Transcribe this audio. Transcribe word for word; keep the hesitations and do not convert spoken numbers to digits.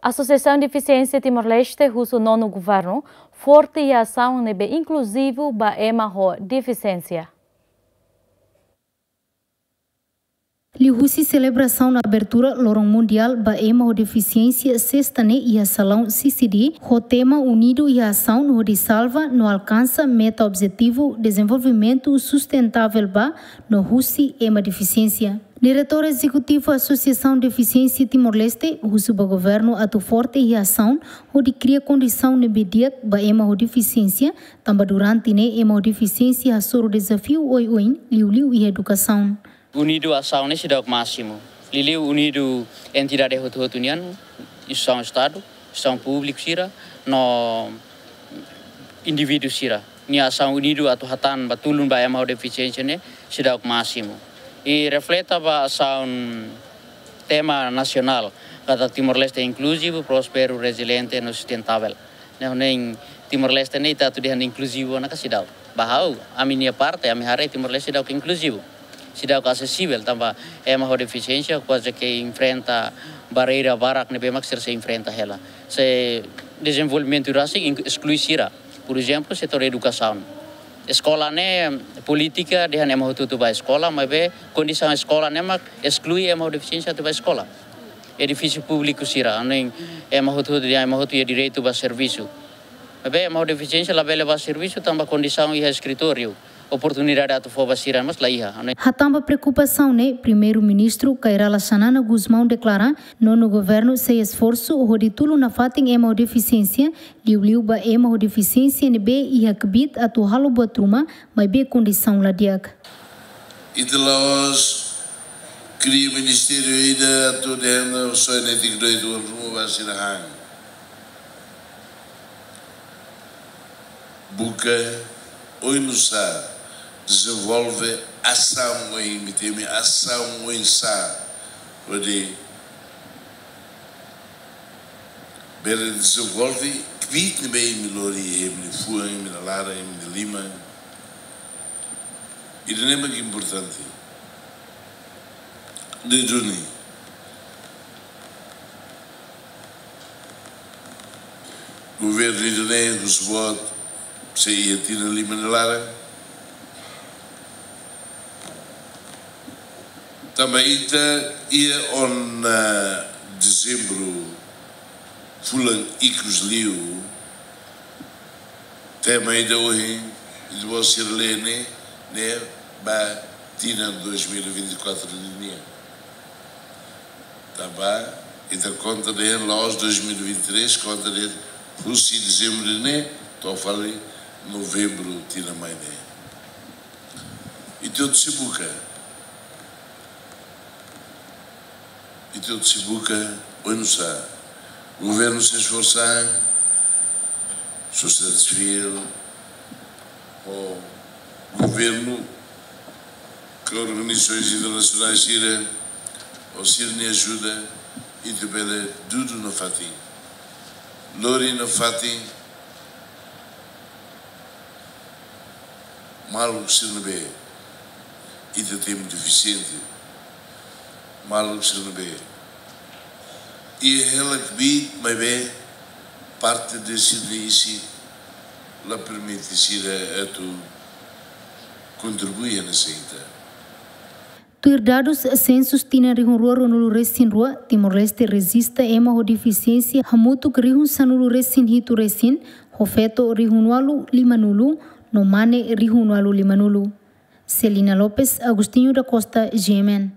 Asosiasaun Defisiénsia Timor-Leste husu nonu governu forte iha asaun ne'ebé inkluzivu ba ema ho defisiénsia. Liuhusi selebrasaun abertura Loron Mundiál ba Ema ho Defisiénsia sesta ne'e iha salaun C C D, ho tema Unidu iha Asaun hodi salva no alkansa meta objetivu dezenvolvimentu sustentável ba no husi ema defisiénsia. Diretór Ezekutivu Asosiasaun Defisiénsia Timor-Leste husu ba governu atu forte iha asaun hodi kria kondisaun ne'ebé di'ak ba ema ho defisiénsia, tanba durante ne'e ema ho defisiénsia hasoru dezafiu oioin, liuliu iha edukasaun. Unidu asaun ne'e seidauk másimu. Liuliu unidu entidade hotu-hotu nian, instituisaun Estadu, instituisaun públiku sira, no indivíduu sira. Nia asaun unidu atu hatán ba tulun ba ema ho defisiénsia ne'e seidauk másimu. I refleta ba asaun tema nasionál, katak Timor-Leste inkluzivu, prósperu, reziliente no sustentável. Ne'e, ne'e Timor-Leste ne'e ita atu dehan inkluzivu ona ka seidauk. Ba ha'u, ami-nia parte, ami haree Timor-Leste seidauk inkluzivu. Seidauk asesivel, tanba ema ho defisiénsia kuaze ke enfrenta barreira barak ne'ebé mak sira sei enfrenta hela. Se dezenvolvimentu rasik ink-, esklui sira. Por ezemplu, setór edukasaun. Eskola ne'e polítika dehan ema hotu-hotu bá eskola, maibé kondisaun eskola ne'e mak esklui ema ho defisiénsia atu bá eskola. Edifísiu públiku sira, ne'e ema hotu-hotu dehan ema hotu iha direitu ba servisu. Maibé ema ho defisiénsia labele bá servisu tanba kondisaun iha eskritóriu, oportunidade atu fó ba sira mós la iha. Hatán ba preokupasaun ne'e, Primeiru-Ministru Kay Rala Xanana Gusmão deklara, nonu governu sei esforsu hodi tulun nafatin ema ho defisiénsia, liuliu ba ema ho defisiénsia ne'ebé iha kbiit atu halo buat ruma, maibé kondisaun la di'ak. Ita la'ós kria ministériu ida atu dehan só netik doit wan ruma ba sira han. Buka oinsá dezenvolve asaun, imi temi asaun oinsá hodi bele dezenvolve kbiit ne'ebé imi lori, imi-nia fuan, imi-nia laran, imi-nia liman. Ida-ne'e mak importante. Duni. Governu ida-ne'e husu boot sei iha tinan lima nia laran. Tanba ita iha ona dezembru, fulan ikus liu, tema ida ohin, ita-boot sira lee ne'e, ne'e ba tinan dois mil e vinte e quatro nian. Tanba ita konta dehan la'ós dois mil e vinte e três, konta dehan husi dezembru ne'e to'o fali novembru tinan mai ne'e. Ita hotu sei buka. Ita hotu sei buka oinsá governu sei esforsa, sosiedade sivíl, ho governu, ka organizasaun internasionál sira, ho sira-nia ajuda, ita bele dudu nafatin. Lori nafatin maluk sira ne'ebé ita temi defisiente, maluk sira ne'ebé iha hela kbiit, maibé parte de sira-nia isin la permite sira atu kontribui hanesan ita. Tuir dadus sensus tinan rihun rua ruanulu resin rua, Timor-Leste rejista ema ho defisiénsia hamutuk rihun sanulu resin hitu resin, ho feto rihun ualu limanulu, no mane rihun ualu limanulu. Celina Lopes, Agostinho da Costa, G M N.